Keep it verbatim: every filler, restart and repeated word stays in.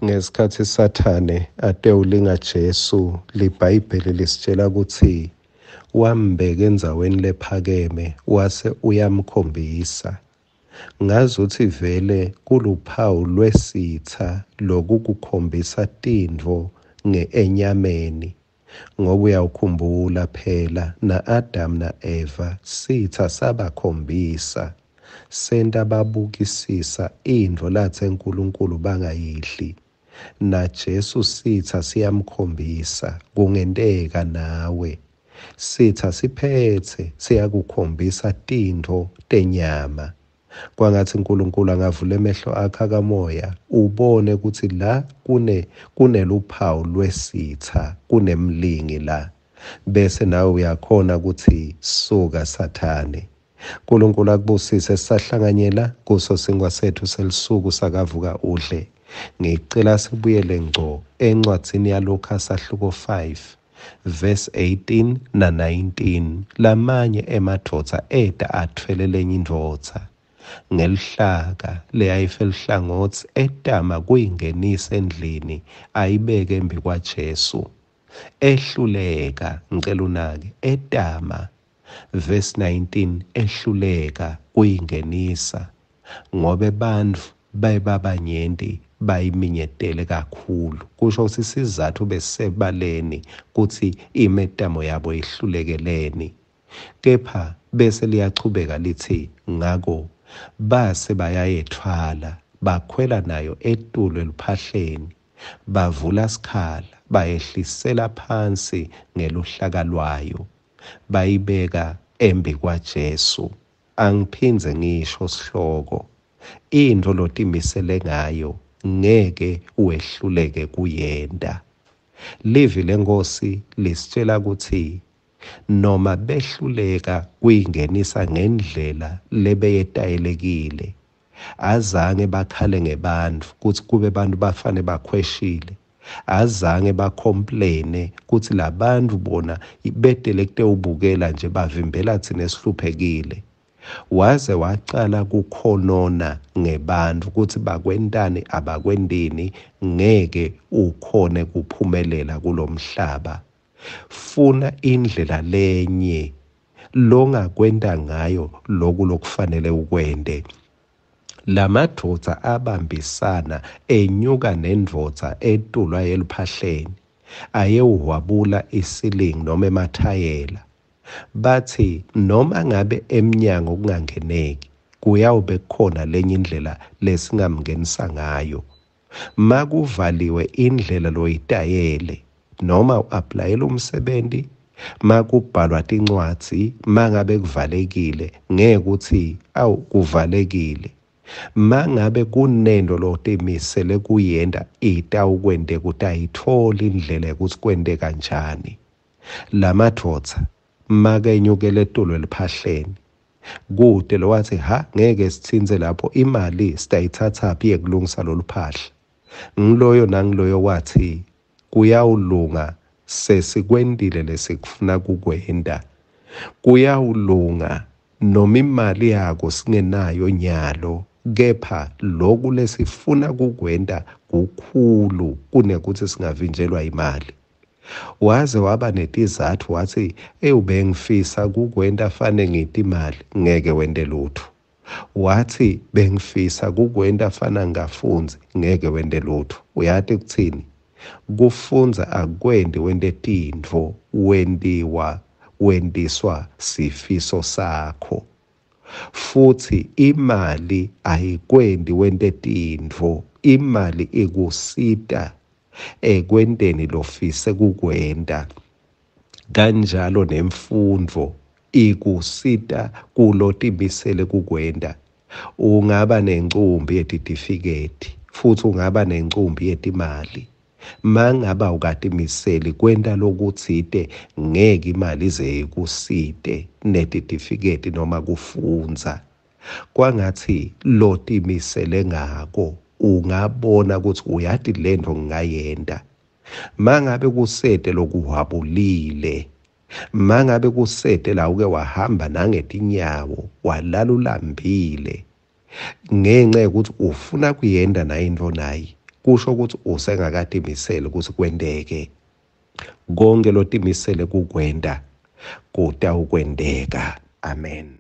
Ngesikhatsi Sathane atewulinga Jesu, liBhayibheli lisitjela kutsi wambeka endzaweni lephakeme wase uyamkhombisa. Ngazutsi vele kuluphawu lwesitsa lokukukhombisa tintfo nge-enyameni, ngoba uyawukhumbula phela na-Adamu na-Eva sitsa sabakhombisa, senta babukisisa intfo latse Nkulunkulu bangayidli. NaJesu sitsa siyamkhombisa, kungenteka nawe sitsa siphetse siyakukhombisa tintfo tenyama. Kwangatsi Nkulunkulu angavula emehlo akho akamoya ubone kutsi la kune kuneluphawu lwesitsa, kunemlingi la, bese nawe uyakhona kutsi suka Sathane. Nkulunkulu akubusise. Sisahlanganyela kuso sinkwa setfu selisuku sakavuka udle. Ngicela sibuyele ngco encwadzini yaLuka sahluko five verse eighteen na nineteen. Lamanye emadvodza eta atfwele lenye indvodza ngelihlaka leyayife luhlangotsi, etama kuyingenisa endlini ayibeke embi kwaJesu. Ehluleka, ngicela unake, etama verse nineteen, ehluleka kuyingenisa ngobe bantfu bayibabanyenti bayiminyetele kakhulu. Kusho kutsi sizatfu besebaleni kutsi imetamo yabo ihlulekeleni. Kepha bese liyachubeka litsi ngako base bayayetfwala bakhwela nayo etulu eluphahleni, bavula sikhala bayehlisela phansi ngeluhlaka lwayo, bayibeka embi kwaJesu. Angiphindze ngisho sihloko, intfo lotimisele ngayo ngeke wehluleke kuyenta. Livi leNkhosi lisitjela kutsi noma behluleka kuyingenisa ngendlela lebeyetayelekile, azange bakhale ngebantfu kutsi kube bantfu bafane bakhweshile, azange bacomplaine kutsi labantfu bona betele kutewubukela nje bavimbela tsine sihluphekile. Waze wacala kukhonona ngebantfu kutsi bakwentani abakwentini, ngeke ukhone kuphumelela kulomhlaba. Funa indlela lenye longakwenta ngayo loku lokufanele ukwente. Lamadvodza abambisana enyuka nendvodza etulu ayeluphahleni, ayewuhwabula isilingi noma emathayela. Batsi noma ngabe emnyango kungangeneki, kuyawube kukhona lenye indlela lesingamngenisa ngayo. Makuvaliwe indlela loyitayele, noma u-aplayela umsebenti, makubhalwa tincwadzi, mangabe kuvalekile, ngeke kutsi awu kuvalekile. Mangabe kunento lotimisele kuyenta, itawukwenteka, utayitfola indlela yokuthi kwente kanjani. Lamadvodza makenyukele etulu eliphahleni, kute lowathi ha ngeke sitsintse lapho, imali sitayithathaphi yekulungisa lolu phahla. Ngiloyo nangiloyo wathi kuyawulunga, sesikwentile lesikufuna kukwenta. Kuyawulunga noma imali yako singenayo nyalo, kepha loku lesifuna kukwenta kukhulu kunekuthi singavinjelwa imali. Waze waba netizatfu wathi ewubengifisa kukwenta fane ngiti imali, ngeke wente lutho. Wathi bengifisa kukwenta fana ngingafundzi, ngeke wente lutho. Uyati kutsini? Kufundza akwendi wente tintfo, wentiwa wentiswa sifiso sakho. Futhi imali ayikwendi wente tintfo, imali ikusita ekwenteni lofise kukwenta. Kanjalo nemfundvo ikusita kulotimisele kukwenta. Ungaba nencumbi yetitifiketi futhi ungaba nencumbi yetimali, mangaba ukatimiseli kwenta lokutsite, ngeke imali ize ikusite netitifiketi noma kufundza. Kwangatsi lotimisele ngako ungabona kutsi uyati lento ngingayenta. Mangabe kusete lokuhwabulile, mangabe kusete la uke wahamba nangetinyawo walala ulambile ngenxa yokuthi ufuna kuyenta nayo intfo nayi, kusho kutsi usengakatimiseli kutsi kwenteke. Konkhe lotimisele kukwenta kutawukwenteka. Amen.